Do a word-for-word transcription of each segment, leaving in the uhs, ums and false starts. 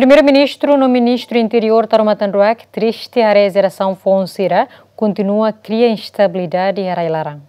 Primeiru-Ministru no Ministru Interiór Taur Matan Ruak triste haree jerasaun foun sira kontinua kria instabilidade iha rai-laran.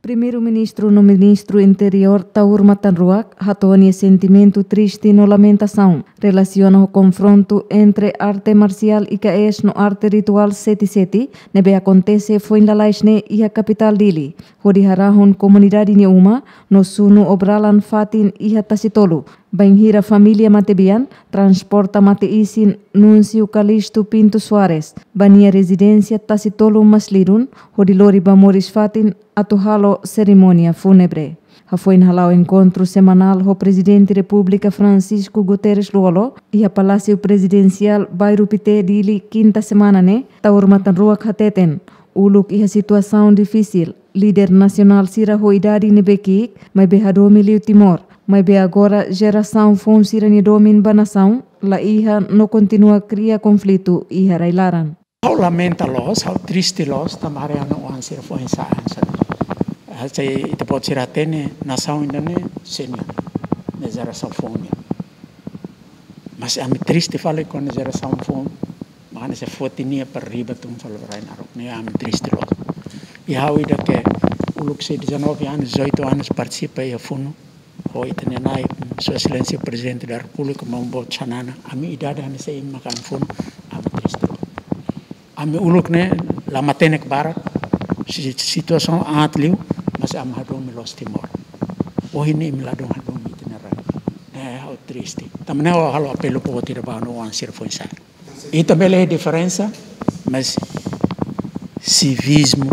Primeiru-Ministru no Ministru Interiór Taur Matan Ruak hato'o nia sentimentu triste no lamentasaun relasiona ho konfrontu entre arte marsiál I K S no arte rituál sete sete ne'ebé akontese foin lalais ne'e iha kapitál Dili, hodi harahun komunidade nia uma no sunu obralan fatin iha Tasitolu. Bainhira família matebian transporta mate-isin Núncio Calixto Pinto Soares ba nia rezidénsia Tasitolu Maslidun, hodi lori ba moris fatin atu halo serimónia fúnebre. Hafoin hala'o enkontru semanál ho Prezidente Repúblika Francisco Guterres Lú-Olo iha Palásiu Prezidensiál Bairru Pité, Dili, kinta semana ne'e, Taur Matan Ruak hateten, uluk iha situasaun difisil, líder nasionál sira ho idade ne'ebé ki'ik, maibé hadomi liu Timor, maibé agora jerasaun foun sira-nia domin ba nasaun la iha no kontinua kria konflitu iha rai-laran. Ha'u lamenta loos, ha'u triste loos, tanba haree ha'u-nia oan sira foin sa'e hanesan ne'e. Hanesan ita-boot sira hatene, nasaun ida-ne'e sé nian, ne'e jerasaun foun nian. Mas ami triste fali kuandu jerasaun foun, mane se foti nia para riba tun fali ba rai naruk, ne'e ami triste loos. I ha'u ida ke uluk sei dezanove anos, dezoito anos partisipa iha funu, ho ita-nia na'i, Sua Exelénsia Prezidente da Repúblika, maun boot Xanana, ami idade hanesan ne'e mak ami funu, ami triste loos. Ami uluk ne'e la matenek barak, si-, situasaun aat liu, mas ami hadomi loos Timor. Ohin ne'e imi ladún hadomi ita-nia rai. Ne'e ha'u triste. Tanba ne'e ha'u halo apelu boot ida ba ha'u-nia oan sira foin sa'e. Ita bele diferensa, mas sivismu,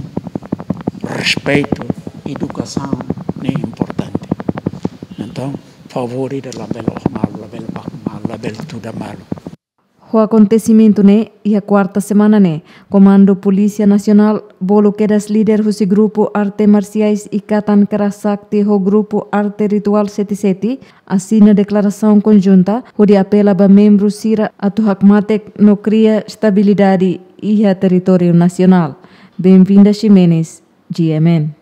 respeitu, edukasaun ne'e importante. Entaun, favór ida labele oho malu, labele baku malu, labele tuda malu. Ho akontesimentu ne'e, iha kuarta semana ne'e, Komandu Polísia Nasionál bolu kedas líder husi grupu arte marsiais Ikatan Kera Sakti ho grupu arte rituál sete sete asina deklarasaun konjunta hodi apela ba membru sira atu hakmatek no kria estabilidade iha territóriu nasionál. Benvinda Ximenes, G M N.